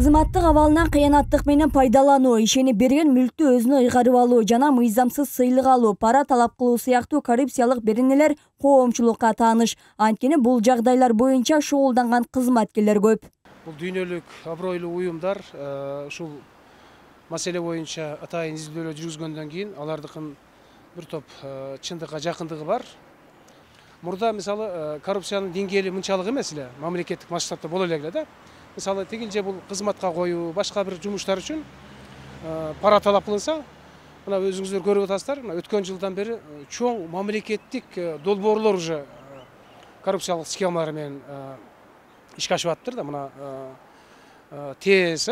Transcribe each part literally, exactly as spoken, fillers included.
Кызматтык абалынан кыянаттык менен пайдалануу, ишенип берген мүлктү өзүнө ыйгарып алуу жана мыйзамсыз сыйлык алуу, пара талап кылуу сыяктуу коррупциялык беренелер коомчулукка тааныш. Анткени бул жагдайлар боюнча шугулданган кызматкерлер көп. Бул дүйнөлүк абройлуу уюмдар ушул маселе боюнча атайын изилдөөлөр жүргүзгөндөн кийин алардыкын бир топ чындыкка жакындыгы бар. Мурда мисалы коррупциянын деңгээли мынчалык эмес эле, мамлекеттик масштабта боло эле да. Мисалы тигилже бул кызматка коюу, башка бир жумуштар үчүн пара талап кылынса, мына өзүңүздөр көрүп атасыздар, мына өткөн жылдан бери чоң мамлекеттик долбоорлор уже коррупциялык схемалар менен ишке ашып атыптыр да. Мына ТЭС,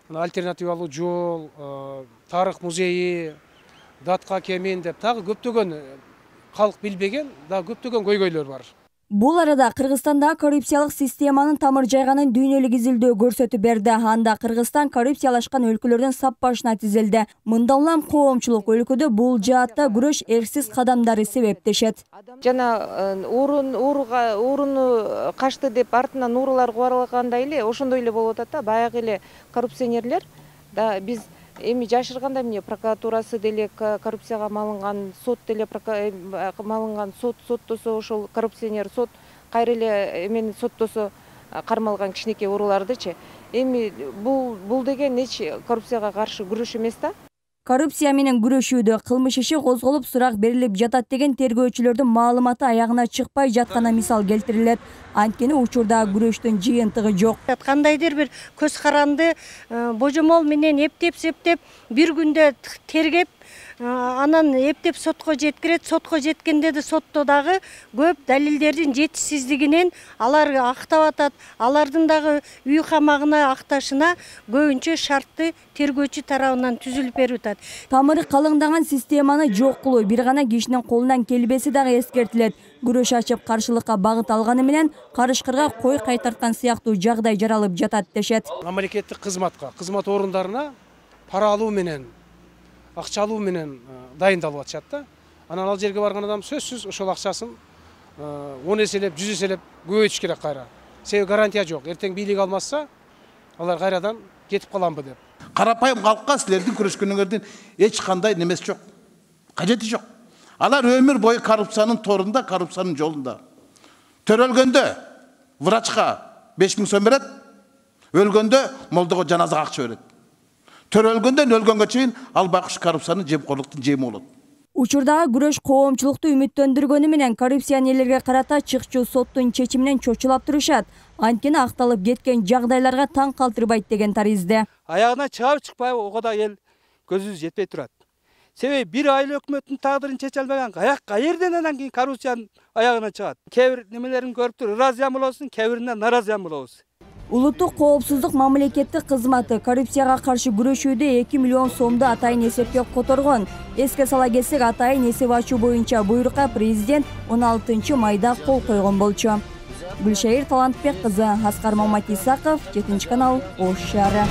мына альтернативалуу жол, тарых музейи, датка кемин деп дагы көптөгөн калк билбеген, дагы көптөгөн көйгөйлөр бар. Бул арада Кыргызстандагы коррупциялык системанын тамыр жайганын дүйнөлүк изилдөө көрсөтүп берди. Анда Кыргызстан коррупциялашкан өлкөлөрдүн сап башына тизилди. Мында улам коомчулук өлкөдө бул жаатта күрөш эрксиз кадамдары себептешет. Жана уурун ууруга ууруну качты деп артынан уурулар кубарылгандай эле ошондой эле болуп атат да. Баягы эле коррупционерлер да биз эми жашырганда эмне прокуратурасы деле коррупцияга малынган, сот деле малынган, сот соттосо ошол коррупционер сот кайра эле эмени соттосо кармалган кичинекей уруулардычы. Эми бул бул деген эч коррупцияга каршы күрөш эмес да. Коррупция менен күрөшүүдө кылмыш иши козголуп сурак берилип жатат деген тергөөчүлөрдүн маалыматы аягына чыкпай жаткана мисал келтирилет. Анткени учурда күрөштүн жыйынтыгы жок. Кандайдыр бир көз каранды божомол менен эптеп септеп бир күндө тергеп, анан эптеп сотко жеткирет. Сотко жеткенде да сотто дагы көп далилдердин жетишсиздигинен алар актап атат. Алардын дагы үй камагына акташына көбүнчө шартты тергөөчү тарабынан түзүлүп берип атат. Тамыры калыңдаган системаны жок кылуу бир гана кишинин колунан келбеси дагы эскертилет. Күрөш ачып каршылыкка багыт алганы менен карышкырга кой кайтарткан сыяктуу жагдай жаралып жатат дешет. Мамлекеттик кызматка, кызмат орундарына пара алуу менен, акча алуу менен дайындалып атышат да. Анан ал жерге барган адам сөзсүз ошол акчасын он эселеп, жүз эселеп көбөйтүш керек кайра. Себеби гарантия жок. Эртең бийлик алмаса, алар кайрадан кетип каламбы деп. Карапайым калкка силердин күрөшкөнүңөрдүн эч кандай немеси жок. Кажети жок. Алар өмүр бою коррупциянын торунда, коррупциянын жолунда. Төрөлгөндө врачка беш миң сом берет, өлгөндө молдого жаназага акча берет. Төрөлгөндөн өлгөнгө чейин ал байкуш коррупциянын жемкорлуктун жеми болот. Учурдагы күрөш коомчулукту үмүттөндүргөнү менен коррупционерлерге карата чыкчу соттун чечиминен чочулап турушат. Анткени акталып кеткен жагдайларга таң калтырбайт деген таризде. Аягына чыгабы чыкпайбы ого да эл көзүбүз жетпей турат. Себеби бир айыл өкмөттүн тагдырын чече албаган аяк кайерден анан кийин коррупциянын аягына чыгат. Кээ бир немелерин көрүп туруп ыраазы болосуң, кээ бирине наразы болобуз. Улуттук коопсуздук мамлекеттик кызматы коррупцияга каршы күрөшүүдө эки миллион сомду атайын эсепке которгон. Эске сала кетсек, атайын эсеп ачуу боюнча буйрукка президент он алтынчы майда кол койгон болчу. Гүлшайыр Талантбек кызы, Аскар Маматисаков, жетинчи канал, Ош шаары.